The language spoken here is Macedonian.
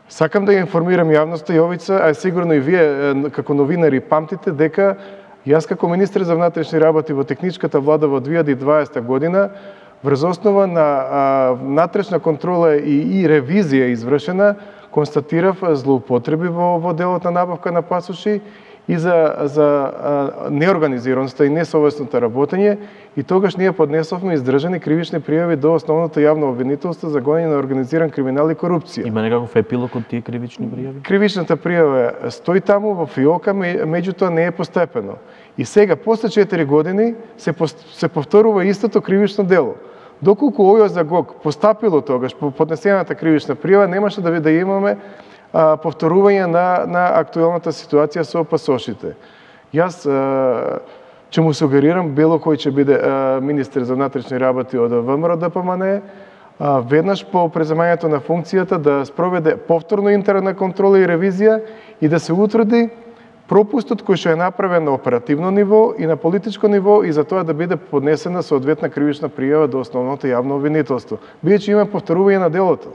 Сакам да ја информирам јавноста Јовица, а сигурно и вие како новинари памтите дека јас како министер за внатрешни работи во техничката влада во 2020 година врз основа на внатрешна контрола и ревизија извршена, констатирав злоупотреби во делот на набавка на пасоши и за неорганизираноста и несовесното работење, и тогаш ние поднесовме издржани кривични пријави до основното јавно обвинителство за гонење на организиран криминал и корупција. Има некаков епилог од тие кривични пријави? Кривичната пријава стои таму во фиока, меѓутоа не е постепено. И сега, после 4 години, се повторува истото кривично дело. Доколку овој загог постапило тогаш по поднесената кривична пријава, немаше да имаме повторување на актуелната ситуација со пасошите. Јас ќе му сугерирам било кој ќе биде министер за внатрешни работи од ВМРО ДПМНЕ, веднаш по преземањето на функцијата да спроведе повторно интерна контрола и ревизија и да се утврди пропустот кој што е направен на оперативно ниво и на политичко ниво, и за тоа да биде поднесена соодветна кривична пријава до основното јавно обвинителство. Бидејќи има повторување на делото.